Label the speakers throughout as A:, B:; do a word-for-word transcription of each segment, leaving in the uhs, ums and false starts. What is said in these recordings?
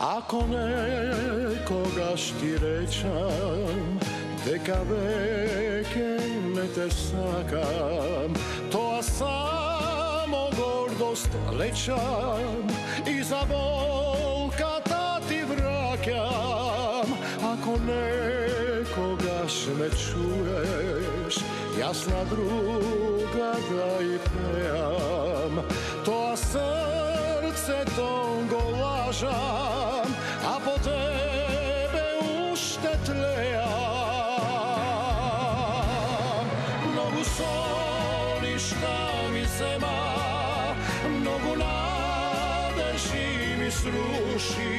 A: Ако некогаш ти речам дека веќе не те сакам, тоа само гордост лечам и за болката ти враќам. Ако некогаш ме чуеш, јас на друга да и пеам, тоа срцето го лажам, а по тебе уште тлеам. Многу соништа ми зема, многу надежи ми сруши,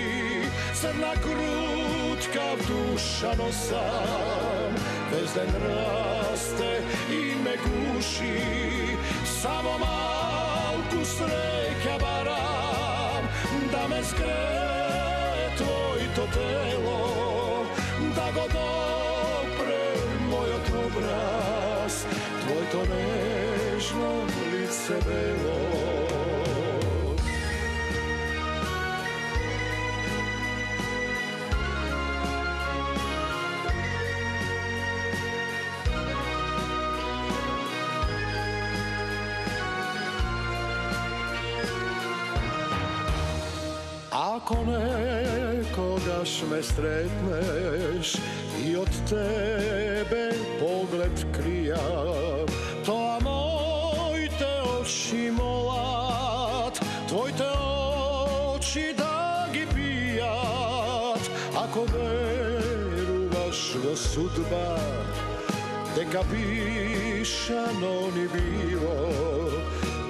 A: црна крутка в душа носам, без ден расте и ме гуши, само малку среќа барам, да ме згрее твоето тело, да го допре мојот образ, твоето нежно лице бело. Ако некогаш ме сретнеш и од тебе поглед кријам, тоа моите очи молат, твоите очи да ги пијат. Ако веруваш во судба, дека пишано ни било,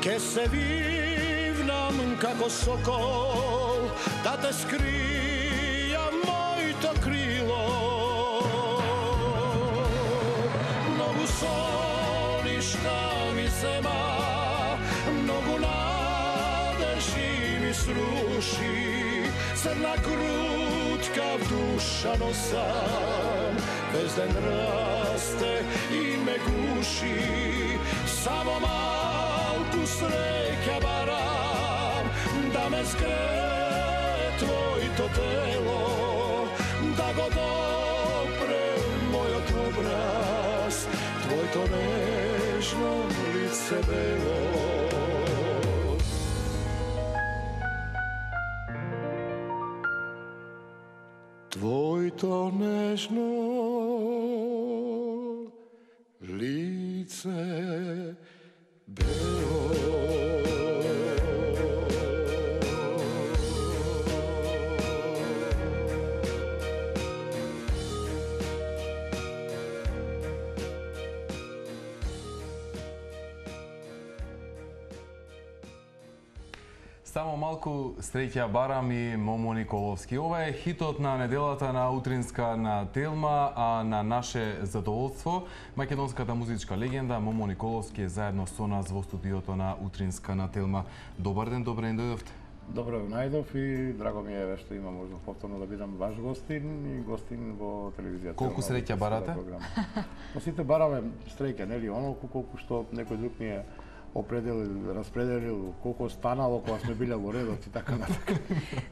A: ке се вивнам како сокол, да те скрија моето крило. Многу соништа ми зема, многу надежи ми сруши, црна крутка в душа носам, без ден расте и ме гуши, само малку среќа барам, да ме згрее твоето тело, да го допре мојот образ, твоето нежно лице бело. Твоето нежно лице бело.
B: Само малку среќа барам и Момо Николовски. Ова е хитот на неделата на утринска на Телма, а на наше задоволство македонската музичка легенда Момо Николовски е заедно со нас во студиото на утринска на Телма. Добар ден, добре ни дојдовте.
C: Добро најдов и драго ми е што има можност повторно да бидам ваш гостин и гостин во телевизијата.
B: Колку среќа барате?
C: Но сите бараме среќа, нели, онолку колку што некој друг ни е определил, распределил, колку станало кога сме биле во редот и така натака.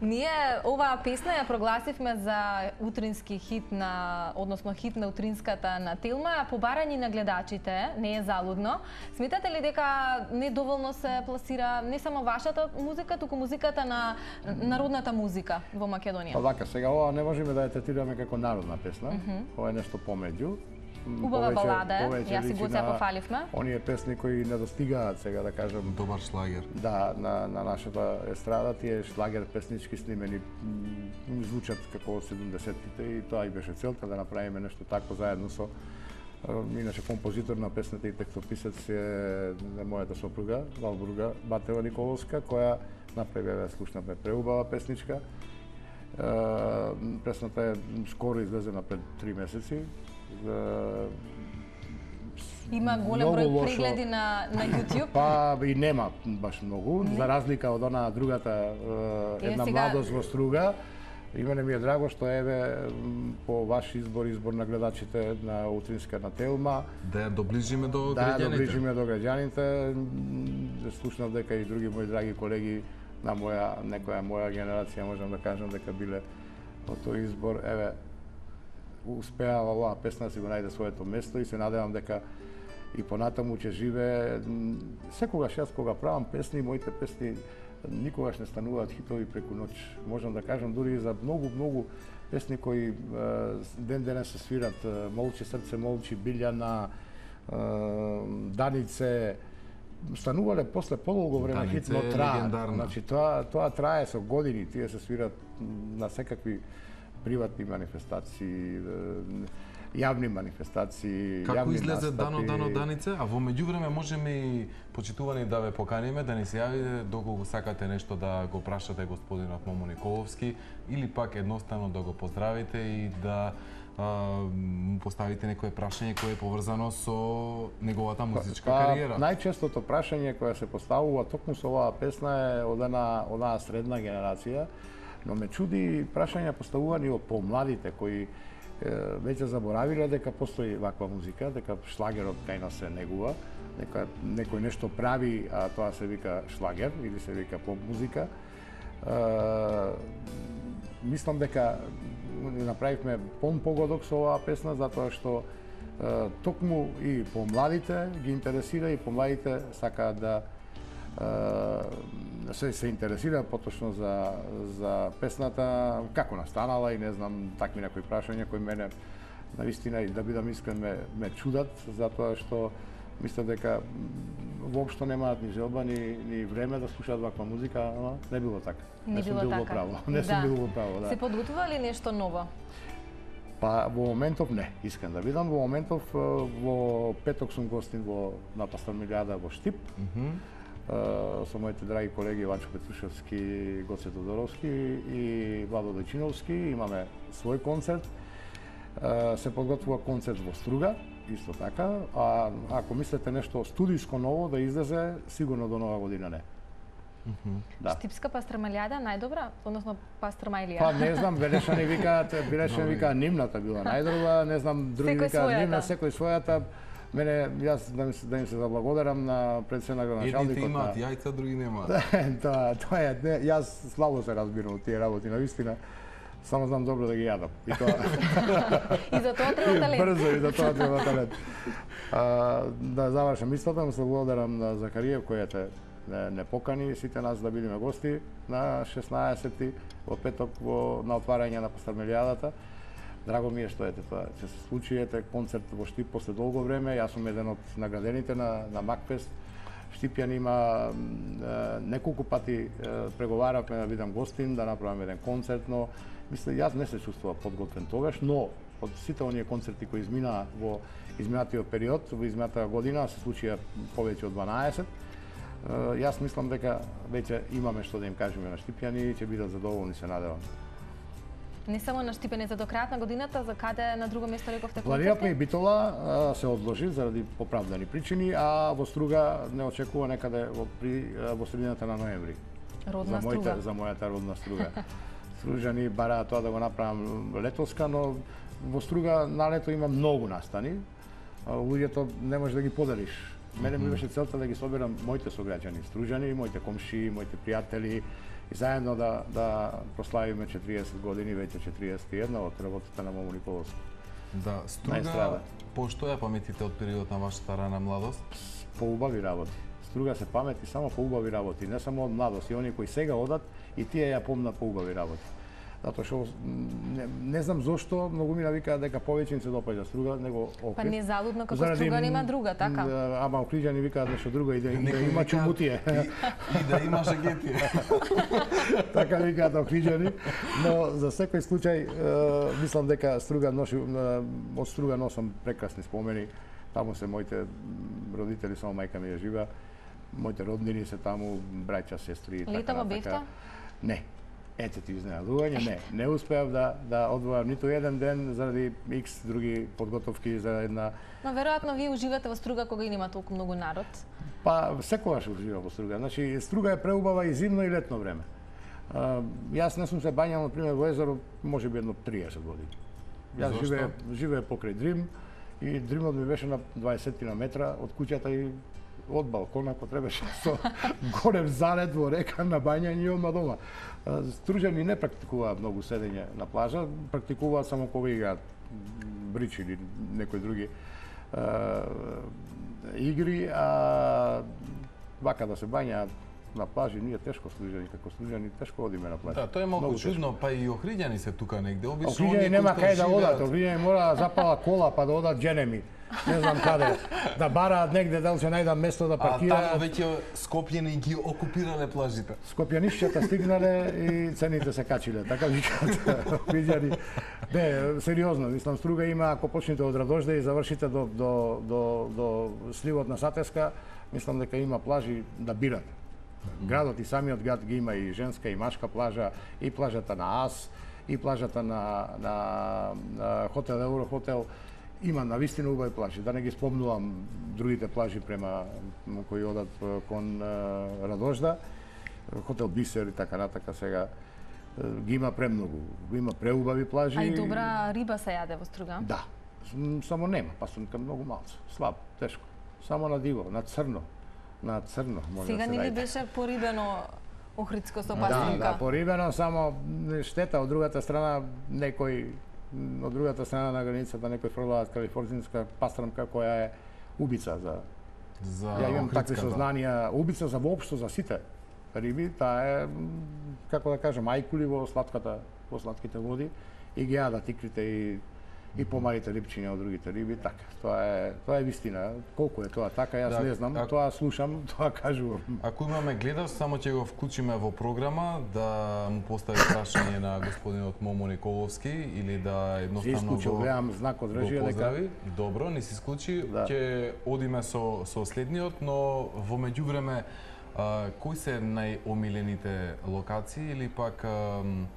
D: Ние оваа песна ја прогласивме за утрински хит на, односно хит на утринската на Телма, побарање на гледачите, не е залудно. Сметате ли дека недоволно се пласира не само вашата музика, туку музиката на народната музика во Македонија?
C: Па вака, сега ова не можеме да ја третираме како народна песна, mm -hmm. ова е нешто помеѓу.
D: Убава балада е, јас и го се пофаливме.
C: Оние песни кои не достигаат, сега да кажем.
B: Добар шлагер.
C: Да, на, на нашата естрада, тие шлагер песнички снимени звучат како од седумдесеттите и тоа и беше целта да направиме нешто тако заедно со иначе композитор на песната и текстописец е мојата сопруга, Валбурга Батева Николовска, која направи, ја слушнавме, преубава песничка. Песната е скоро излезена пред три месеци.
D: Има голем број прегледи на, на YouTube?
C: Па и нема баш многу, не. За разлика од она другата една е, сега... младост во струга. И мене ми е драго што еве по ваш избор, избор на гледачите на утринска на Телма.
B: Да ја доближиме до
C: да,
B: граѓаните.
C: Да, доближиме до граѓаните. Слушнав дека и други мои драги колеги на моја, некоја моја генерација, можам да кажам дека биле од тој избор, еве, успеа оваа песна да си го најде своето место и се надевам дека и понатаму ќе живее. Секогаш јас кога правам песни, моите песни никогаш не стануваат хитови преку ноќ. Можам да кажам дури и за многу, многу песни кои ден денес се свират, Молчи срце, молчи, Билјана, Данице, станувале после подолго време хит, но трае. Значи тоа тоа трае со години, тие се свират на секакви приватни манифестации, јавни манифестации,
B: Како
C: јавни
B: излезе
C: настапи.
B: Дано Дано Данице, а во меѓувреме можеме и почитувани да ве поканиме, да ни се јавите доколку сакате нешто да го прашате господинот Момо Николовски или пак едноставно да го поздравите и да му поставите некое прашање кое е поврзано со неговата музичка
C: па,
B: кариера.
C: Најчестото прашање кое се поставува токму со оваа песна е од една онаа средна генерација, но ме чуди прашања поставувани од помладите кои веќе заборавиле дека постои ваква музика, дека шлагерот кај нас се негува, дека некој нешто прави, а тоа се вика шлагер или се вика поп музика. Мислам дека направивме пон погодок со оваа песна затоа што токму и помладите ги интересира и помладите сакаат да се се интересира поточно за за песната, како настанала и не знам такви некои прашања кои мене навистина и да бидам искрен ме, ме чудат затоа што мислам дека воопшто немаат ни желба ни, ни време да слушаат ваква музика, ама не било така.
D: Не,
C: не сум
D: било
C: бил во
D: така.
C: право. Не
D: да.
C: сум бил во право, да.
D: Се подготвува ли нешто ново?
C: Па во моментов не, искрен да видам, во моментов во петок сум гостин во на Пастормилијада во Штип.
B: Mm -hmm.
C: Uh, со моите драги колеги Вачо Петрушевски, Гоце Тодоровски и Владо Дојчиновски. Имаме свој концерт. Uh, се подготвува концерт во Струга, исто така. А ако мислите нешто студиско ново да излезе, сигурно до нова година не.
B: Mm -hmm.
C: Да.
D: Штипска пастрамалијада најдобра, односно пастрамајлија?
C: Па не знам, Белешани викаат, Белешани викаат Нимната била најдобра, не знам, други викаат Нимна, секој својата. Мене, јас да, ми, да им се заблагодарам на председнакот на Шалдикот.
B: Едните имаат јајца, други немаат.
C: Тоа, тоа е, не, јас слабо се разбирам од тие работи, навистина. Само знам добро да ги јадам. И тоа.
D: И за тоа треба талент.
C: Брзо и за тоа треба талент. А, да завршам мислата, му се благодарам на Закариев кој те не, не покани сите нас да бидеме гости на шеснаесети во петок во на отварање на Пастормилијадата. Драго ми е што ете тоа ќе се случи, ете концерт во Штип после долго време. Јас сум еден од наградените на на Макфест. Штипјан има е, неколку пати е, преговаравме да бидам гостин, да направам еден концерт, но мислам јас не се чувствував подготвен тогаш, но од сите оние концерти кои изминаа во изминатиот период, во изминатата година се случија повеќе од дванаесет. Е, јас мислам дека веќе имаме што да им кажеме на Штипјани и ќе бидат задоволни, се надевам.
D: Не само на Штипене, за до крајот на годината, за каде на друго место рековте концерти?
C: Планираме и Битола а, се одложи заради оправдани причини, а во Струга не очекува некаде во, при, во средината на ноември.
D: Родна
C: за моите,
D: Струга.
C: За мојата родна Струга. Стружани бараат тоа да го направам летоска, но во Струга на лето има многу настани. Луѓето не можеш да ги поделиш. Мене ми беше целта да ги соберам моите сограѓани, Стружани, моите комши, моите пријатели, и заедно да да прославиме четириесет години, веќе четириесет и една од работата на Момо Николовски.
B: Да, Струга, по што ја паметите од периодот на вашата рана младост?
C: По убави работи. Струга се памети само по убави работи, не само од младост, и они кои сега одат и тие ја помнат по убави работи. Затоа што не, не знам зошто многу ми навикаат дека повеќе им се допаѓа Струга него Охрид.
D: Па не залудно како заради, Струга нема друга, така?
C: Ама Охриѓани викаат нешто друго и да, да има чумутие.
B: И, и да има шегетие.
C: Така викаат Охриѓани, но за секој случај е, мислам дека Струга носи, од Струга носам прекрасни спомени. Таму се моите родители, само мајка ми е жива. Моите роднини се таму, браќа, сестри и така.
D: Летава бевте?
C: Не. Ете ти изненадување, не. Не успеав да да одвојам ниту еден ден заради икс други подготовки за една.
D: Но веројатно вие уживате во Струга кога и нема толку многу народ.
C: Па секогаш уживам во Струга. Значи Струга е преубава и зимно и летно време. А, јас не сум се бањал на пример во езеро можеби едно триесет години. Јас живеев живеев покрај Дрим и Дримот ми беше на дваесет метра од куќата и од балкон, ако требаше, со горев залет во река на бањање и одма дома. Стружани не практикуваат многу седење на плажа, практикуваат само кога играат брич или некои други а, игри, а вака да се бањаат на плажи, ние тешко стружани, како стружани тешко одиме на плажа.
B: Да, тоа е малку чудно, па и охриѓани се тука негде. Обично
C: охриѓани нема кај да одат, охриѓани мора да запала кола па да одат дженеми. Не знам каде, да бараат негде, дали ќе најдат место да паркираат.
B: А таму веќе Скопјани ги окупирале плажите.
C: Скопјанишќата стигнале и цените се качиле, така викаат охриѓани. Не, сериозно, мислам, Струга има, ако почнете од Радожде и завршите до, до, до, до сливот на Сатеска, мислам дека има плажи да бират. Градот и самиот град ги има и женска и машка плажа, и плажата на Ас, и плажата на, на, на хотел Еврохотел. Има навистина убави плажи. Да не ги спомнувам другите плажи према кои одат кон Радожда, хотел Бисер и така натака сега. Ги има премногу. Има преубави плажи.
D: А и добра риба се јаде во Струга?
C: Да. Само нема, пасунка многу малце. Слабо, тешко. Само на диво, на црно. На црно може
D: сега
C: да се
D: не ли
C: најде.
D: беше порибено Охридско со
C: Да,
D: пасунка?
C: да, порибено, само штета од другата страна некој од другата страна на границата некој фрлаат калифорничка пастрамка која е убица за
B: За
C: Ја имам такви
B: Охридската.
C: сознанија, убица за воопшто за сите риби, таа е како да кажем ајкули во сладката во сладките води и ги јадат икрите и и помалите рибчиња од другите риби, така. Тоа е тоа е вистина. Колку е тоа така, јас
B: Да,
C: не знам,
B: а-
C: тоа слушам, тоа кажувам.
B: Ако имаме гледач, само ќе го вклучиме во програма да му постави прашање на господинот Момо Николовски или да
C: Се
B: едноставно
C: исклучил,
B: го,
C: гледам знак од
B: го
C: режија дека
B: поздрави. Добро, не се исклучи.
C: Да.
B: Ќе одиме со со следниот, но во меѓувреме а, кои се најомилените локации или пак ам,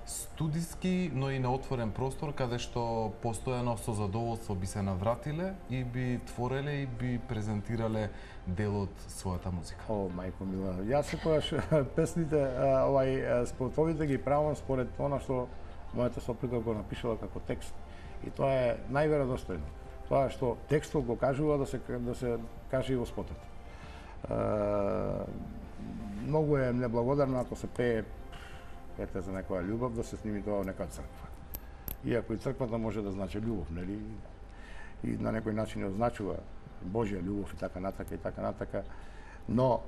B: студиски, но и на отворен простор каде што постојано со задоволство би се навратиле и би твореле и би презентирале дел од својата музика.
C: О, мајко мила, јас секогаш песните, а, овај а, спортовите ги правам според она што мојата сопруга го напишала како текст. И тоа е најверодостојно. Тоа што текстот го кажува да се да се каже и во спотот. А, многу е неблагодарно ако се пее ете за некоја љубов да се сними тоа во некоја црква. Иако и црквата може да значи љубов, нели? И на некој начин ја означува Божја љубов и така натака и така натака. Но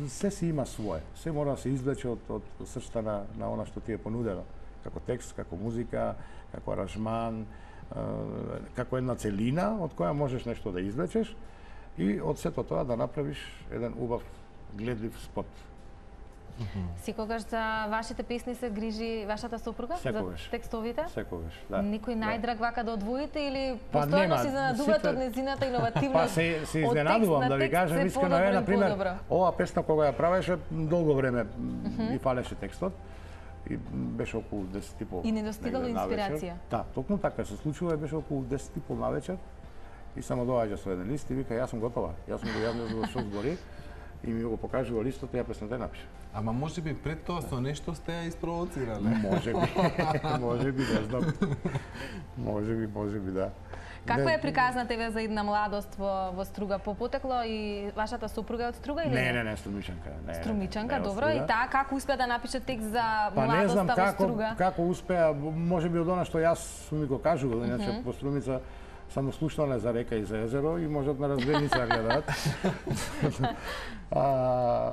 C: се си има свое. Се мора да се извлече од, од срцата на, на она што ти е понудено. Како текст, како музика, како аранжман, како една целина од која можеш нешто да извлечеш и од сето тоа да направиш еден убав гледлив спот.
D: Секогаш за вашите песни се грижи вашата сопруга?
C: Секогаш.
D: За текстовите?
C: Секогаш, да.
D: Никој најдраг вака да одвоите или
C: Па
D: постојано
C: нема,
D: се изненадувате
C: сите-
D: од незината иновативност?
C: Па се, се
D: од
C: изненадувам
D: текст на
C: да ви
D: текст
C: кажам
D: се
C: искрено,
D: подобро
C: е,
D: и
C: на пример,
D: подобро.
C: ова песна кога ја правеше долго време и фалеше текстот и беше околу десет и пол.
D: И не достигало
C: негде навечер.
D: инспирација.
C: Да, токму така се случува и беше околу десет и пол навечер и само доаѓа со еден лист и вика јас сум готова. Јас сум го јавил за што збори и ми го покажува листот и ја песната ја напиша.
B: Ама може би пред тоа со нешто сте ја испровоцирале.
C: Може би, може би, не знам. Може би, може би, да.
D: Каква
C: Не-
D: е приказна тебе за една младост во, во Струга? По потекло и вашата сопруга е од Струга или
C: Не, не, не, Струмичанка. Не,
D: Струмичанка,
C: не, од
D: добро. И
C: Струга.
D: таа како успеа да напише текст за
C: Па не знам
D: младоста во
C: како,
D: Струга?
C: како успеа, може би од она што јас сум ми го кажувал, иначе во Струмица само слушнале за река и за езеро и можат на разгледница да гледаат. А,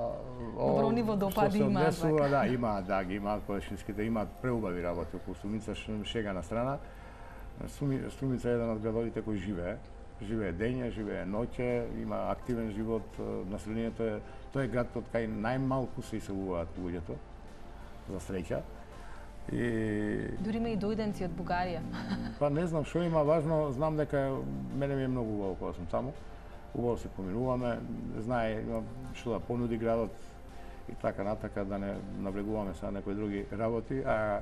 D: Добро
C: о,
D: ниво допади
C: што се
D: имаат,
C: однесува, да, имаат, да, ги имаат колешинските, имаат преубави работи околу Струмица, ш- шега на страна. Струми- Струмица е еден од градовите кој живее. Живее дење, живее ноќе, има активен живот, населението е, тој е град од кај најмалку се иселуваат луѓето, за среќа. И
D: Дури има и дојденци од Бугарија.
C: па не знам што има важно, знам дека мене ми е многу убаво кога сум таму. Убаво се поминуваме, знае има што да понуди градот и така натака да не навлегуваме са некои други работи, а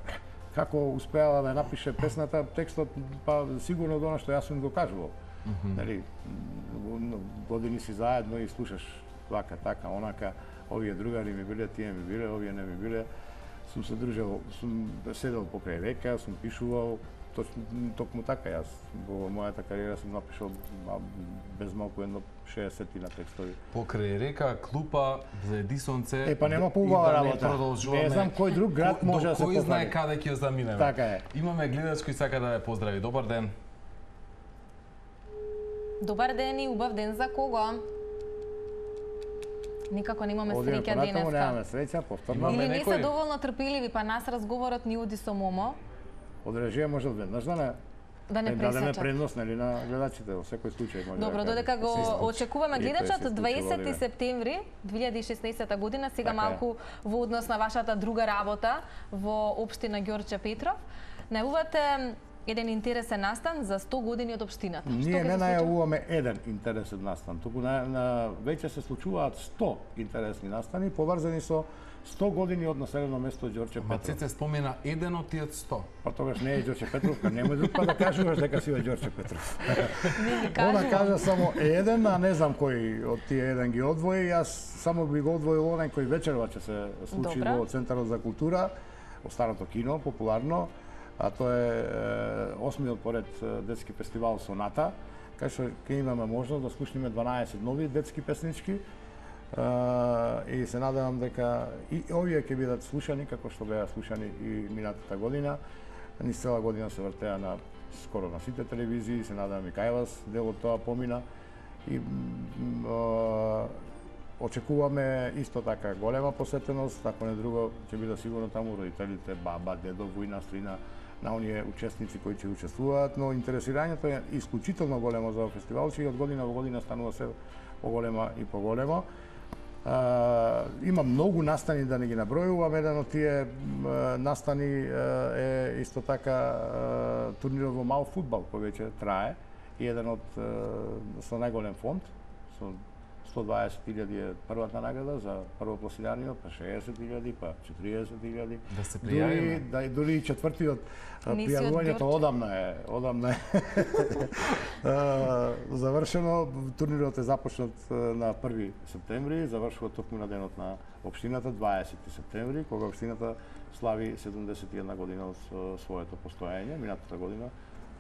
C: како успеала да напише песната, текстот па сигурно од она што јас сум го кажувал. Нели, години си заедно и слушаш вака, така, онака, овие другари ми биле, тие ми биле, овие не ми биле. Сум се дружел, сум седел покрај река, сум пишувал, точно токму така јас во мојата кариера сум напишал без малку едно шеесет на текстови.
B: Покрај река, клупа, заеди сонце.
C: Е, па нема поубава работа. Не знам кој друг град може да се
B: покори. Кој знае
C: покани.
B: каде ќе ја заминеме.
C: Така е.
B: Имаме гледач кој сака да ве поздрави. Добар ден.
D: Добар ден и убав ден за кого? Никако немаме среќа денеска.
C: Немаме среќа, повторно.
D: Или не се доволно трпеливи, па нас разговорот ни оди со Момо.
C: Од режија може веднаш да не
D: да не пресечат.
C: Дадеме предност нели на гледачите во секој случај може.
D: Добро,
C: да
D: додека го очекуваме гледачот дваесети септември две илјади и шеснаесета година, сега така малку во однос на вашата друга работа во општина Ѓорче Петров, најавувате еден интересен настан за сто години од општината.
C: Ние не најавуваме еден интересен настан, туку на, на веќе се случуваат сто интересни настани поврзани со сто години од населено место Ѓорче Петров.
B: Ма Цеце спомена еден од тие сто.
C: Па тогаш не е Ѓорче Петров, немој друг па да кажуваш дека си од Ѓорче Петров. Она кажа само еден, а не знам кој од тие еден ги одвои. Јас само би го одвоил онај кој вечерва ќе се случи Добра. Во Центарот за култура, во старото кино, популарно, а тоа е осмиот поред детски фестивал Соната, кај што ќе имаме можност да слушнеме дванаесет нови детски песнички. Uh, и се надевам дека и овие ќе бидат слушани како што беа слушани и минатата година. Низ цела година се вртеа на скоро на сите телевизии, се надевам и кај вас дел од тоа помина. И uh, очекуваме исто така голема посетеност, ако не друго ќе биде сигурно таму родителите, баба, дедо, војна, стрина, на оние учесници кои ќе учествуваат, но интересирањето е исклучително големо за фестивал, че и од година во година станува се поголема и поголемо. Uh, има многу настани да не ги набројувам, еден од тие uh, настани uh, е исто така uh, турнирот во мал фудбал кој веќе трае и еден од uh, со најголем фонд, со сто дваесет илјади е првата награда за првопласираниот, па шеесет илјади, па четириесет илјади.
B: Да се пријавиме.
C: Да, дури и четвртиот пријавувањето одамна е, одамна е завршено. Турнирот е започнат на први септември, завршува токму на денот на општината дваесети септември, кога општината слави седумдесет и една година од своето постоење. Минатата година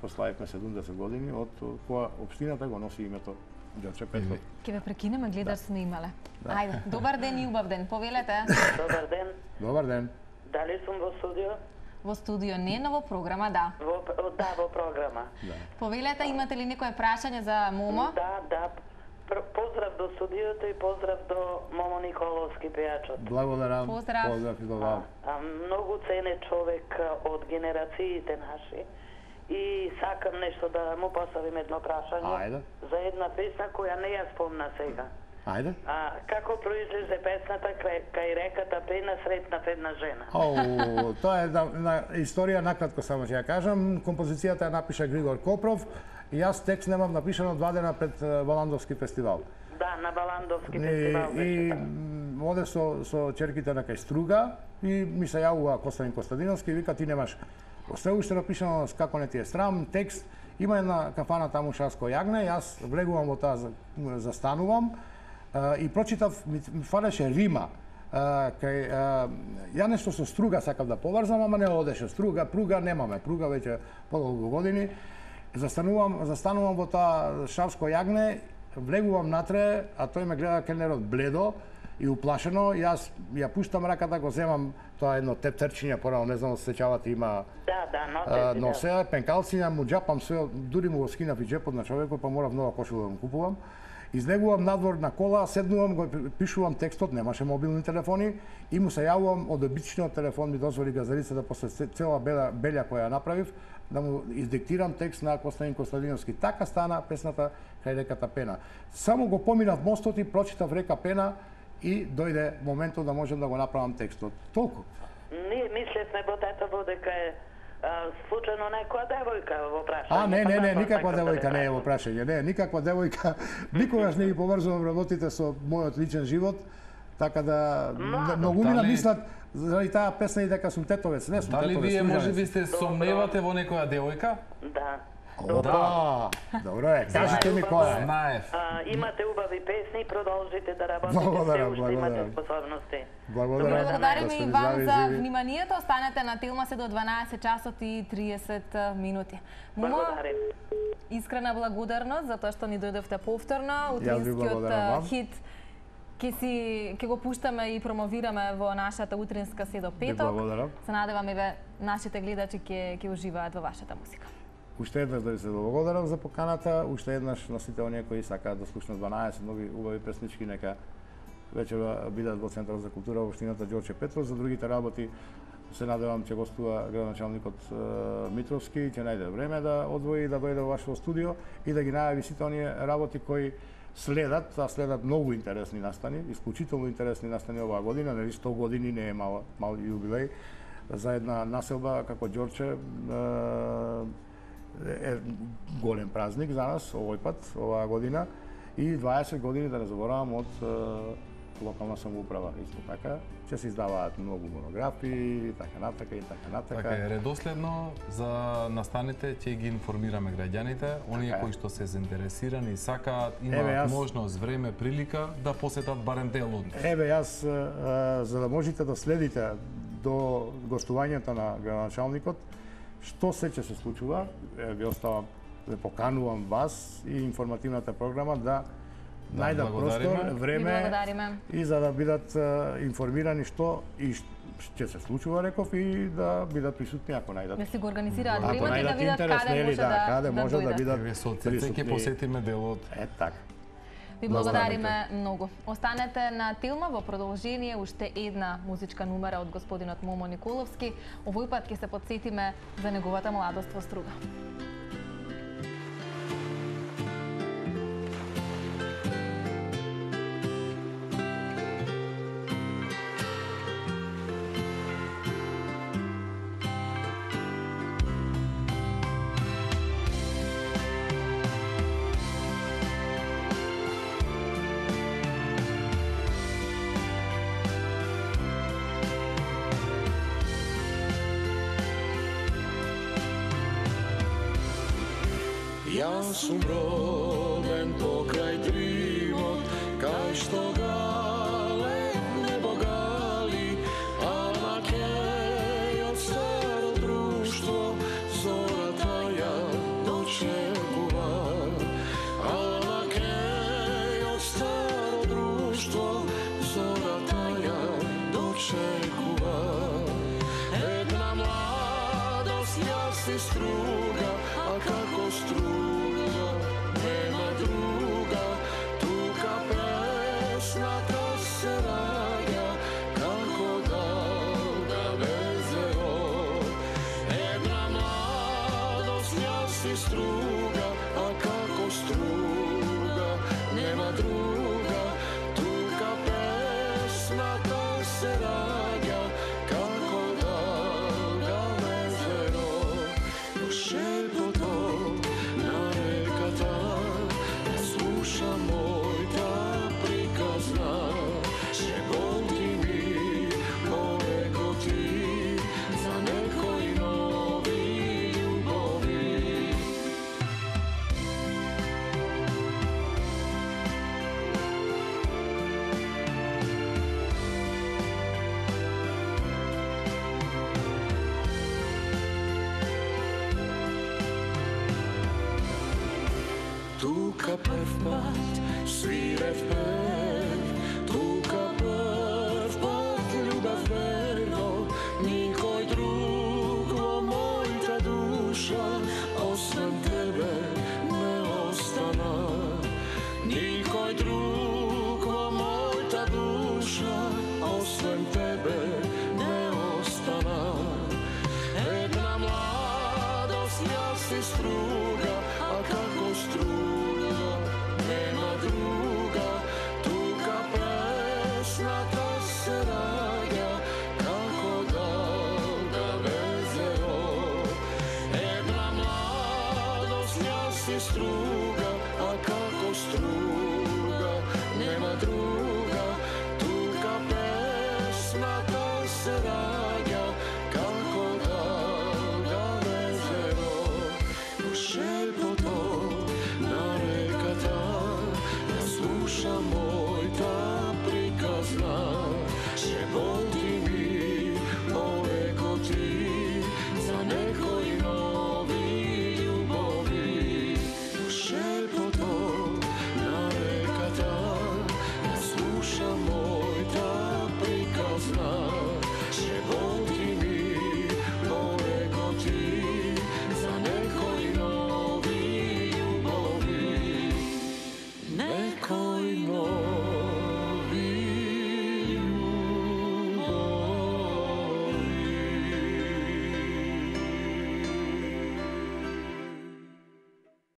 C: прославивме седумдесет години од која општината го носи името Ѓорче Петров.
D: Ке ве прекинеме, гледач снимале. Да. Ајде, добар ден и убав ден. Повелете.
E: Добар ден.
C: Добар ден.
E: Дали сум во студио?
D: Во студио не, но во програма да.
E: Во, да, во програма.
C: Да.
D: Повелете, имате ли некое прашање за Момо?
E: Да, да. Поздрав до студиото и поздрав до Момо Николовски пејачот.
C: Благодарам.
D: Поздрав.
C: Поздрав и до вас.
E: А, многу ценет човек од генерациите наши. И сакам нешто да му поставим едно прашање.
C: Ајде.
E: За една песна која не ја спомна сега.
C: Ајде.
E: А како произлезе песната кај реката Пена сретнав една жена?
C: О, тоа е на, на историја, накратко само ќе ја кажам. Композицијата ја напиша Григор Копров и јас текст немам напишано два дена пред Валандовски фестивал.
E: Да, на Валандовски фестивал беше.
C: И оде со со ќерките на кај Струга и ми се јавува Костадин Костадиновски и вика ти немаш се уште напишано како не ти е срам, текст. Има една кафана таму Шарско јагне, јас влегувам во таа, застанувам и прочитав, ми, ми фалеше рима. Кај, ја нешто со Струга сакав да поврзам, ама не одеше. Струга, пруга немаме, пруга веќе подолго години. Застанувам, застанувам во таа Шарско јагне, влегувам натре, а тој ме гледа келнерот бледо и уплашено. Јас ја пуштам раката, го земам тоа едно тептерчиња, порано не знам се сеќавате, има
E: да, да, носе,
C: носе, да. Пенкалциња, му џапам све, дури му го скинав и џепот на човекот, па морав нова кошула да му купувам. Излегувам надвор на кола, седнувам, го пишувам текстот, немаше мобилни телефони и му се јавувам од обичниот телефон, ми дозволи газарицата после цела белја, белја која ја направив, да му издиктирам текст на Костадин Костадиновски. Така стана песната кај реката Пена. Само го поминав мостот и прочитав река Пена и дојде моментот да можам да го направам текстот. Толку.
E: Ние мислевме во татово дека е а, случајно некоја девојка во прашање.
C: А, не, не, не, никаква девојка не е во прашање. Не, никаква девојка. Никогаш не ги поврзувам работите со мојот личен живот, така да многумина мислат заради таа песна и дека сум тетовец. Не сум
B: тетовец. Дали вие можеби сте сомневате во некоја девојка?
E: Да.
C: Опа! Добро е, кажете ми која е.
B: Знаев.
E: А, имате убави песни, продолжите да работите,
C: Благодарам,
E: се уште имате
C: благодарам.
E: способности.
C: Благодарам.
D: Благодариме
C: Да сте
D: и
C: ни
D: вам
C: здрави,
D: за
C: живи.
D: вниманието. Останете на Телма се до дванаесет часот и триесет минути. Мумо,
E: Благодарим.
D: искрена благодарност за тоа што ни дојдовте повторно.
C: Јас ви благодарам
D: Утринскиот
C: вам.
D: хит ќе си ќе го пуштаме и промовираме во нашата утринска се до петок.
C: благодарам.
D: Се надевам еве нашите гледачи ќе ќе уживаат во вашата музика.
C: Уште еднаш да ви се благодарам за поканата, уште еднаш на сите оние кои сакаат да слушнат дванаесет нови убави песнички, нека вечера бидат во Центарот за култура во општината Ѓорче Петров. За другите работи се надевам ќе гостува градоначалникот е, Митровски, ќе најде време да одвои да дојде во вашето студио и да ги најави сите оние работи кои следат, а следат многу интересни настани, исклучително интересни настани оваа година, нели сто години не е мал мал јубилеј за една населба како Ѓорче. Е, е голем празник за нас овој пат, оваа година, и дваесет години, да не заборавам, од е, локална самоуправа. Исто така, ќе се издаваат многу монографии, така натака и така натака.
B: Така е, редоследно за настаните ќе ги информираме граѓаните, оние
C: Така е.
B: кои што се заинтересирани, сакаат,
C: Еве,
B: имаат
C: јас-
B: можност, време, прилика да посетат барем дел од нив.
C: Еве, јас, е, за да можете да следите до гостувањето на градоначалникот, што се ќе се случува, е, ви оставам, ве поканувам вас и информативната програма да
B: Да,
C: најдат
B: благодариме.
C: простор,
D: Ви
C: време
D: благодариме.
C: и за да бидат е, информирани што и ш- ќе се случува, реков, и да бидат присутни ако најдат.
D: Да си го организираат
C: Ако
D: времето и да
C: најдат
D: видат
C: интерес,
D: каде
C: нели,
D: може
C: да,
D: да
C: каде може да
D: дојдат.
C: бидат
B: Еве со срце ќе
C: присутни.
B: посетиме делот.
C: Е така.
D: Ви
C: На
D: благодариме многу. Останете на Телма во продолжение уште една музичка numera од господинот Момо Николовски. Овој пат ќе се подсетиме за неговата младост во Струга.
A: Јас сум роден покрај дримот, кај што гале небо гали, а на кеј од старо друштво зората ја дочекува. А на кеј од старо друштво зората ја дочекува. Една младост јас си струга, а како струга нема друга, тука песната се раѓа како далга везеро. Една младост јас си струга, а како струга нема друга, тука песната се раѓа како далга везеро. Шепотот на реката да слуша мојта приказна, шепоти ми повекоти за некои нови љубови. Тука прв пат свирев пев, тука прв пат љубав верно, никој друг во мојта душа, освен тебе не остана. Никој друг во мојта душа, освен тебе не остана. Една младост јас си струга, а како струга нема друга, тука песната се раѓа како далга везеро. Една младост јас си струга, а како струга нема друга.